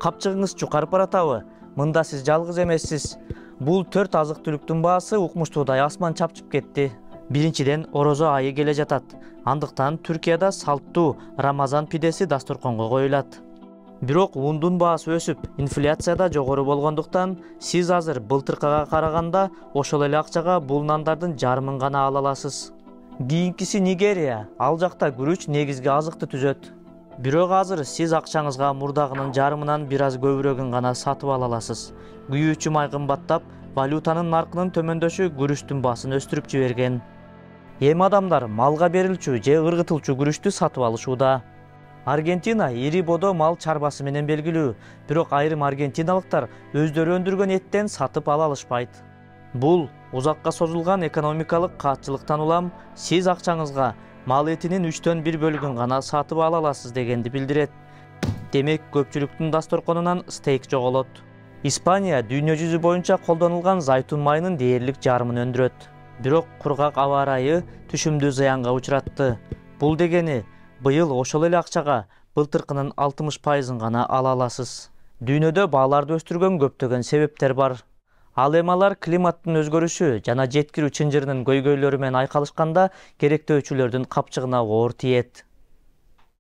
Капчыгыңыз жукарып баратабы? Мында сиз жалгыз эмессиз. Бул 4 азык-түлүктүн баасы укмуштуудай асман чапчып кетти. Биринчиден, орозо айы келе жатат. Андыктан Түркияда салттуу Рамазан пидеси дасторконго коюлат. Бирок ундун баасы өсүп, инфляция да жогору болгондуктан, сиз азыр былтыркыга караганда ошол эле акчага бул нандардын жарымын гана ала аласыз. Кийинкиси Нигерия. Ал жакта күрүч негизги азыкты түзөт. Бирок азыр сиз акчаңызга мурдагынын жарымынан бир аз көбүрөгүн гана сатып ала аласыз. Күйүүчү май кымбаттап, валютанын наркынын төмөндөшү күрүчтүн баасын өстүрүп жиберген. Эми адамдар малга берилчү же ыргытылчу күрүчтү сатып алышууда. Аргентина ири бодо мал чарбасы менен белгилүү, бирок айрым аргентиналыктар өздөрү өндүргөн эттен сатып ала алышпайт. Бул узакка созулган экономикалык каатчылыктан улам сиз акчаңызга мал этинин 3/1 бөлүгүн гана сатып ала аласыз дегенди билдирет. Демек, көпчүлүктүн дасторконунан стейк жоголот. Испания дүйнө жүзү боюнча колдонулган зайтун майынын дээрлик жарымын өндүрөт. Бирок кургак аба ырайы түшүмдү зыянга учуратты. Бул дегени, быйыл ошол эле акчага былтыркынын 60% гана ала аласыз. Дүйнөдө бааларды өстүргөн көптөгөн себептер бар. Ал эми алар климаттын өзгөрүшү жана жеткирүү чынжырынын көйгөйлөрү менен айкалышканда керектөөчүлөрдүн капчыгына оор тиет.